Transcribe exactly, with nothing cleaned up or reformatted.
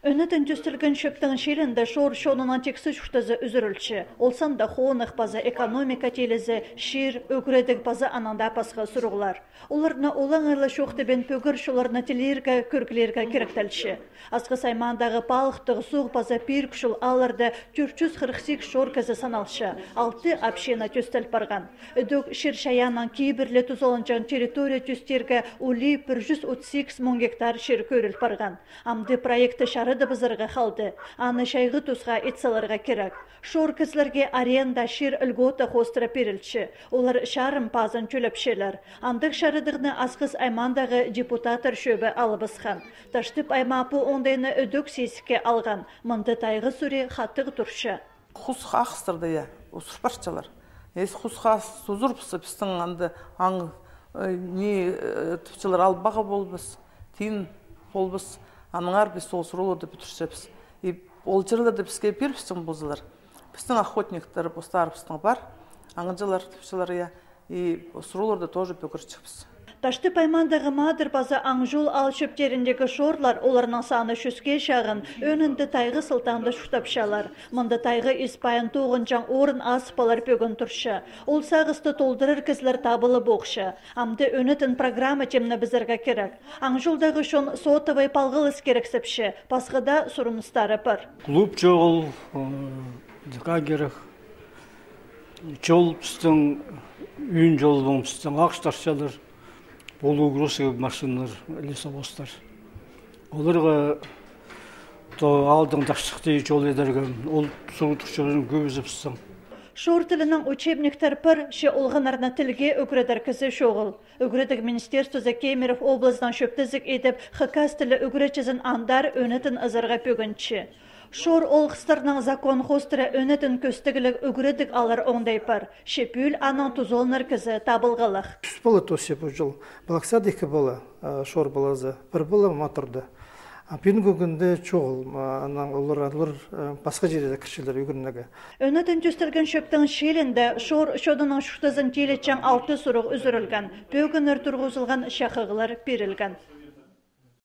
Ӧнетін тӧстелген чӧптің чилінде шор чонының тиксі чуртазы ӱзӱрілче. Ол санда хоных паза экономика тилізі, чир, ӱгредіг паза аннаң даа пасха сурығлар. Оларны олаңай ла чоохтабин пӧгір чолларны тілирге, кӧрглирге киректелче. Асхыс аймаандағы Палыхтығ, Суғ паза Пирік чол аалларда тӧрт чӱс хырых сигіс шор кізі саналча, алты община тӧстел парған. Ідӧк чир-чайааннаң кибірле тузаланҷаң территория тӧстирге улии пір чӱс отыс сигіс муң гектар чир кӧріл парған. Амды проектті чарыдыбызарға халды, аны чайғы тусха ит саларға кирек. Шор кізілерге аренда, чир льгота хоостыра пирілче, олар чарым пазын тӧлепчелер. Андағ чарыдығны Асхыс аймаандағы депутаттар чӧбі алыбысхан. Таштып аймаа пу оңдайны ідӧк сизікке алған, мында тайғы сури хатығ турча. Хус хахыстырды, я, усур парчалар. Ес хус хас сузурбысы пістің анда аң, э, не, э, тіпчелер албағы болбыс, тиин болбыс, аныңар піс ол суруларды пӱтірчебіс. И ол черлерді піске пирібісчең болзалар, пістің охотниктер постарыбыстың пар, аңҷылар тіпчелер, я, и суруларды тоже пӱгірчебіс. Таштып аймаандағы Маадыр паза Аңҷул аал чӧптеріндегі шорлар, оларның саны чӱске чағын, ӧӧнінде тайғы сылтаанда чуртапчалар. Мында тайғы ис-пайын тоғынҷаң орын азып алар пӧгін турча. Ол сағысты толдырар кізілер табылып охча. Амды ӧнетін программа тимнебізерге кирек. Аңҷулдағы чон сотовай палғалыс кирексепче, пасха даа сурыныстары пар. Клуб чоғыл, э, дыка кирек. Чол пістің, ӱн чолбаң пістің ағастарчалар, полугрузка машиналар, лесовозтар. Оларға то аалдың таштыхти чол идерге, ол сурығ турча кӧбізі пістің. Шор тілінең учебниктер пар, че олғаннарны тілге ӱгредер кізі чоғыл. Ӱгредіг министерствозы Кемерово облазынаң чӧптезіг идіп, хакас тілі ӱгретчізін андар ӧнетін ызарға пӧгінче. Шор олғыстарнаң закон хоостыра ӧнетін кӧстігліг ӱгредіг алар оңдай пар, че пӱӱл анаң тузаланар кізі табылғалах. Тӱс пала тоосча пу чыл. Пылахсада ікі пала, а, шор палазы, пір пала ма турды. А пӱӱнгі кӱнде чоғыл, а, анаң олар, олар, а, пасха чирде кірчелер ӱгренерге. Ӧнетін тӧстелген чӧптің чилінде шор чонының чуртазын тилетчең алты сурығ ӱзӱрілген, пӧгіннер турғызылған, чахығлар пирілген.